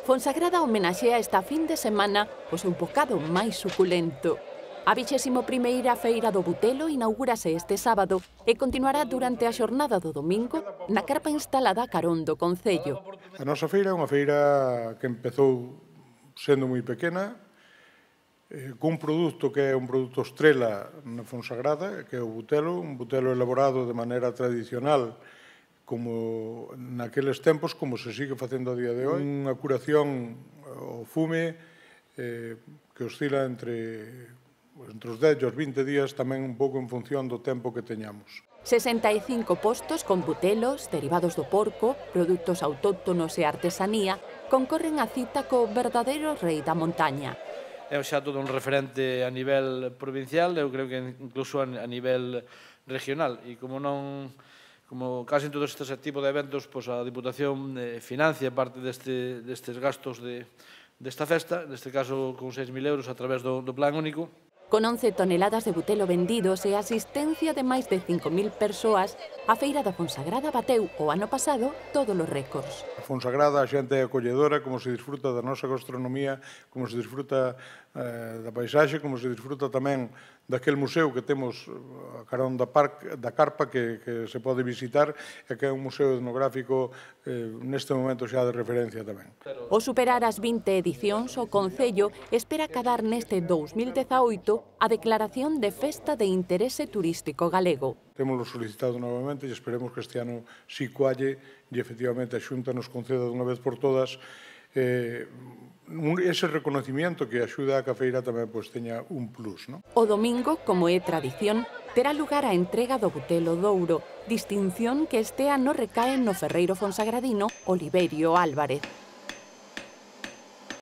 Fonsagrada homenaxea esta fin de semana o seu bocado máis suculento. A 21ª Feira do Butelo inaugúrase este sábado e continuará durante a xornada do domingo na carpa instalada a carón do Concello. A nosa feira é unha feira que empezou sendo moi pequena, cun produto que é un produto estrela na Fonsagrada, que é o butelo, un butelo elaborado de maneira tradicional, como naqueles tempos, como se sigue facendo a día de hoxe. Unha curación ao fume que oscila entre os 10 e os 20 días, tamén un pouco en función do tempo que teñamos. 65 postos con butelos, derivados do porco, produtos autóctonos e artesanía concorren a cita co verdadeiro rei da montaña. É xa todo un referente a nivel provincial, eu creo que incluso a nivel regional, e como casi en todos estes tipos de eventos, pois a Diputación financia parte destes gastos desta festa, neste caso con 6.000 euros a través do Plan Único. Con 11 toneladas de butelo vendidos e a asistencia de máis de 5.000 persoas, a Feira da Fonsagrada bateu o ano pasado todos os récords. A Fonsagrada, a xente é acolledora, como se disfruta da nosa gastronomía, como se disfruta da paisaxe, como se disfruta tamén daquel museo que temos a carón da carpa que se pode visitar e que é un museo etnográfico neste momento xa de referencia tamén. Ao superar as 20 edicións, o Concello espera acadar neste 2018 a declaración de Festa de Interese Turístico Galego. Témoslo solicitado novamente e esperemos que este ano si coalle e efectivamente a Xunta nos conceda dunha vez por todas ese reconocimiento que axuda a que a feira tamén teña un plus. O domingo, como é tradición, terá lugar a entrega do Butelo Douro, distinción que este ano recae no ferreiro fonsagradino Oliverio Álvarez.